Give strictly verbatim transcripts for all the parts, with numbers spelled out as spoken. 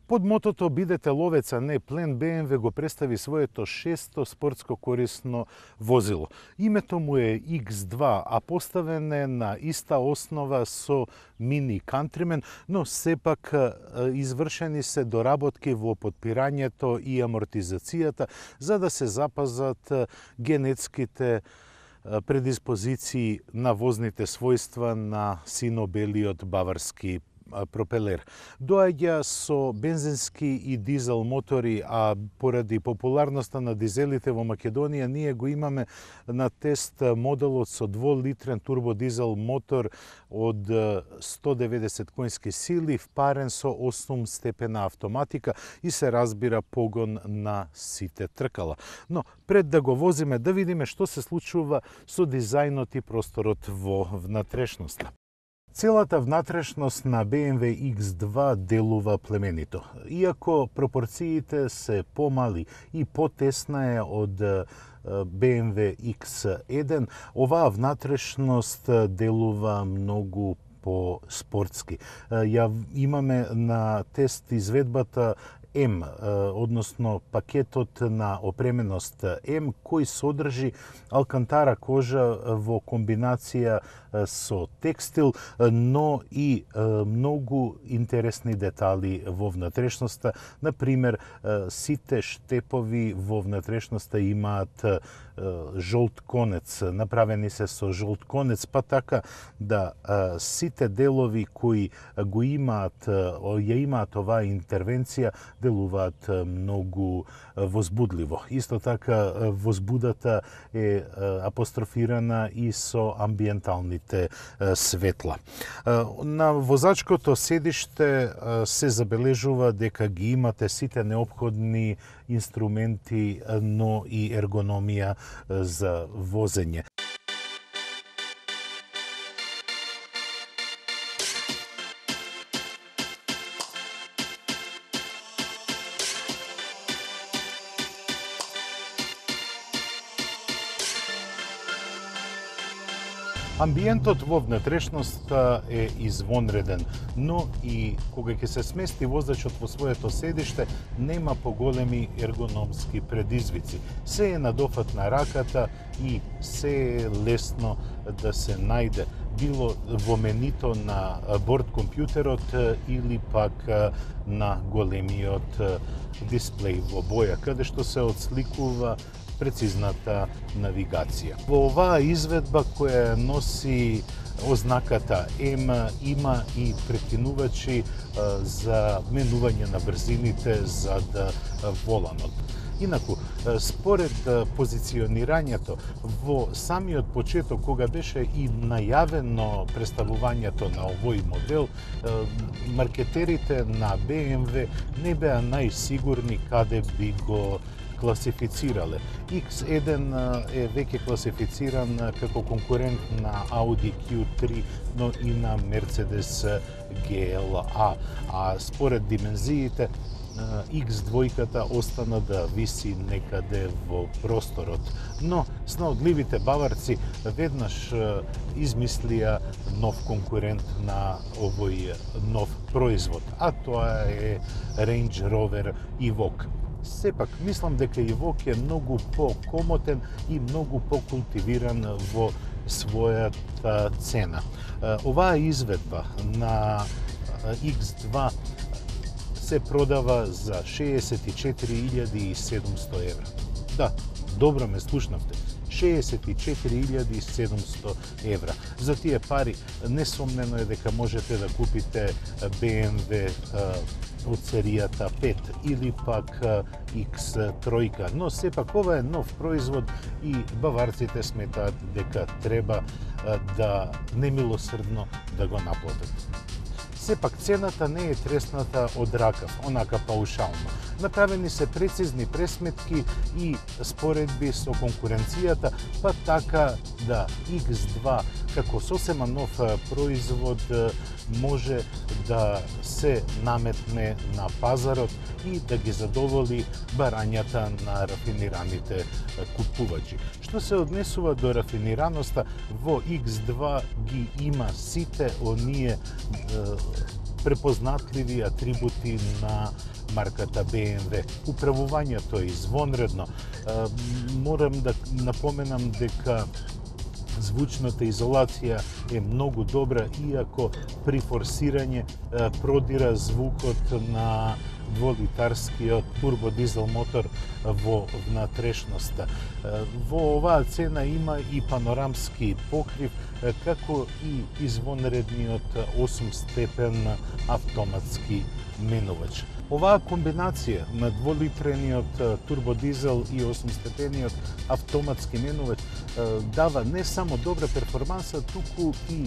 Под мотото "Бидете ловец, а не плен", Б М В го представи своето шесто спортско корисно возило. Името му е Икс два, а поставен е на иста основа со Мини Countryman, но сепак извршени се доработки во подпирањето и амортизацијата за да се запазат генетските предиспозиции на возните својства на сино-белиот баварски пропелер. Доаѓа со бензински и дизел мотори, а поради популарноста на дизелите во Македонија, ние го имаме на тест моделот со дволитрен турбодизел мотор од сто деветдесет коњски сили, впарен со осум степена автоматика и се разбира погон на сите тркала. Но пред да го возиме, да видиме што се случува со дизајнот и просторот во внатрешноста. Целата внатрешност на Б М В Икс два делува племенито. Иако пропорциите се помали и потесна е од Б М В Икс еден, оваа внатрешност делува многу по-спортски. Ја имаме на тест изведбата М, односно пакетот на опременост М, кој содржи алкантара кожа во комбинација со текстил, но и многу интересни детали во внатрешноста. Например, сите штепови во внатрешноста имаат жолт конец, направени се со жолт конец, па така да сите делови кои го имаат, ја имаат оваа интервенција, делуваат многу возбудливо. Исто така возбудата е апострофирана и со амбиенталните светла. На возачкото седиште се забележува дека ги имате сите неопходни инструменти, но и ергономија за возење. Амбиентот во внатрешноста е извонреден, но и кога ќе се смести возачот во своето седиште, нема поголеми ергономски предизвици. Се е на дофат на раката и се е лесно да се најде, било во менито на борд компјутерот или пак на големиот дисплеј во боја, каде што се отсликува прецизната навигација. Во оваа изведба која носи ознаката М, има и прекинувачи за менување на брзините зад воланот. Инаку, според позиционирањето во самиот почеток, кога беше и најавено представувањето на овој модел, маркетерите на Б М В не беа најсигурни каде би го класифицирале. Икс еден е веќе класифициран како конкурент на Audi Q три, но и на Mercedes G L A, а според димензиите Икс два остана да виси некаде во просторот. Но снаодливите баварци веднаш измислија нов конкурент на овој нов производ, а тоа е Range Rover Evoque. Сепак, мислам дека Evoque е многу по-комотен и многу по-култивиран во својата цена. Оваа изведба на Икс два се продава за шеесет и четири илјади и седумсто евра. Да, добро ме слушнавте. шеесет и четири илјади и седумсто евра. За тие пари несомнено е дека можете да купите Б М В од серијата пет или пак Икс три, но сепак ова е нов производ и баварците сметаат дека треба да немилосрдно да го наплатат. Сепак цената не е тресната од ракав, онака паушално. Направени се прецизни пресметки и споредби со конкуренцијата, па така да икс два како сосема нов производ може да се наметне на пазарот и да ги задоволи барањата на рафинираните купувачи. Што се однесува до рафинираноста, во икс два ги има сите оние препознатливи атрибути на марката Б М В. Управувањето е извонредно. Морам да напоменам дека звучната изолација е многу добра, иако при форсирање продира звукот на дволитарскиот турбодизел мотор во внатрешноста. Во оваа цена има и панорамски покрив, како и извонредниот осум степен автоматски менувач. Оваа комбинација на дволитрениот турбодизел и осум степениот автоматски менувач дава не само добра перформанса, туку и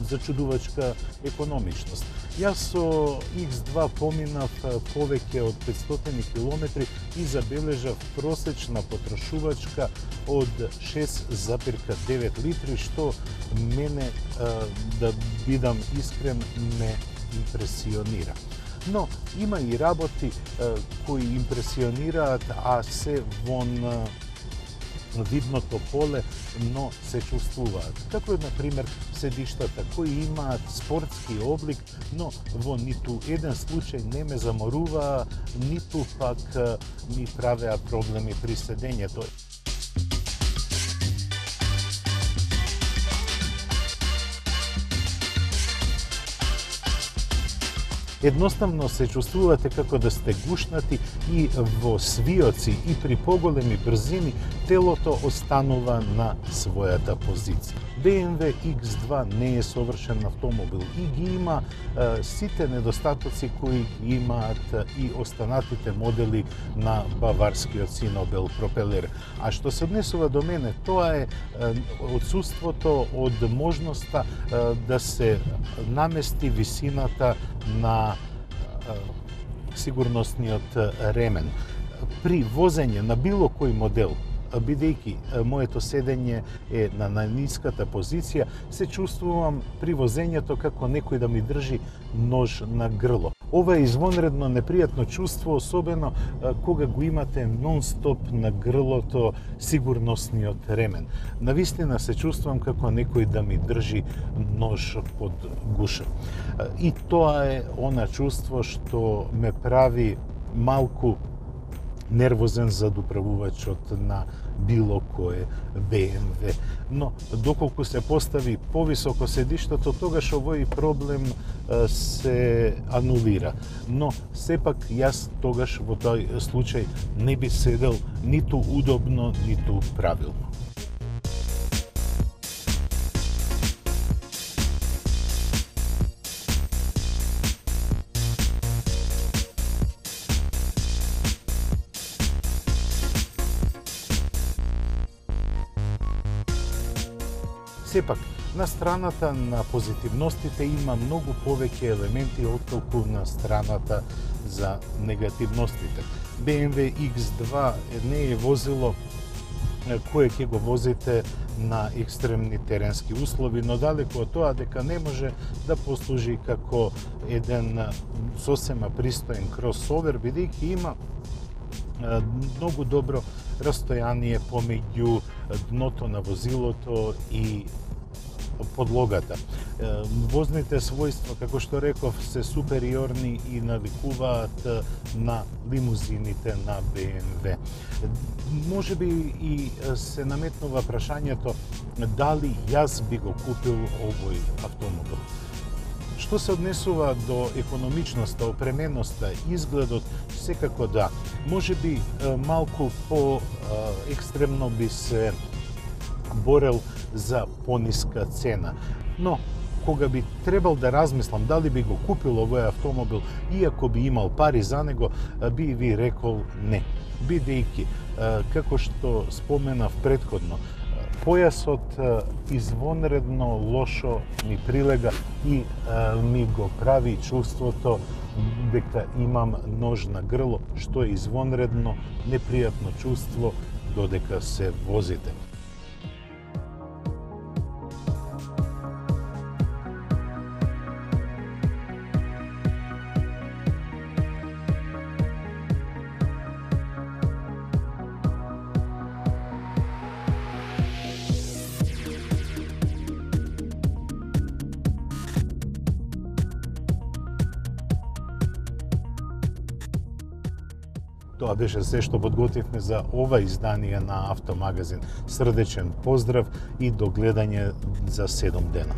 зачудувачка економичност. Јас со икс два поминав повеќе од петстотини километри и забележав просечна потрошувачка од шест зарез девет литри, што мене, да бидам искрен, ме импресионира. Но има и работи кои импресионираат, а се вон видното поле, но се чувствуваат. Како е, например, седиштата, кои имаат спортски облик, но во ниту еден случај не ме заморуваа, ниту пак ми правеа проблеми при седењето. Едноставно се чувствувате како да сте гушнати и во свиоци и при поголеми брзини телото останува на својата позиција. Б М В икс два не е совршен автомобил и ги има е, сите недостатоци кои ги имаат и останатите модели на баварскиот Синобел пропелер. А што се однесува до мене, тоа е, е отсуството од можноста е, да се намести висината на сигурносниот ремен. При возење на било кој модел, бидејќи моето седење е на најниската позиција, се чувствувам при возењето како некој да ми држи нож на грло. Ова е извонредно непријатно чувство, особено кога го имате нон-стоп на грлото сигурносниот ремен. Навистина се чувствувам како некој да ми држи нож под гуша. И тоа е она чувство што ме прави малку нервозен за управувачот на било кое Б М В. Но доколку се постави повисоко седиштето, тогаш овој проблем се анулира. Но сепак јас тогаш во тој случај не би седел ниту удобно, ниту правилно. Сепак, на страната на позитивностите има многу повеќе елементи отколку на страната за негативностите. Б М В икс два не е возило кое ќе го возите на екстремни теренски услови, но далеку од тоа дека не може да послужи како еден сосема пристоен кросовер, бидејќи има многу добро растојание помеѓу дното на возилото и подлогата. Возните својства, како што реков, се супериорни и навикуваат на лимузините на Б М В. Може би и се наметнува прашањето дали јас би го купил овој автомобил. Што се однесува до економичноста, опременоста, изгледот, секако да. Може би малку по екстремно би се борел за пониска цена. Но, кога би требал да размислам дали би го купил овој автомобил, иако би имал пари за него, би ви рекол не. Бидејќи, како што споменав претходно, појасот извонредно лошо ми прилега и ми го прави чувството дека имам нож на грло, што е извонредно непријатно чувство додека се возите. Тоа беше се што подготвивме за ова издание на Автомагазин. Срдечен поздрав и до гледање за седум дена.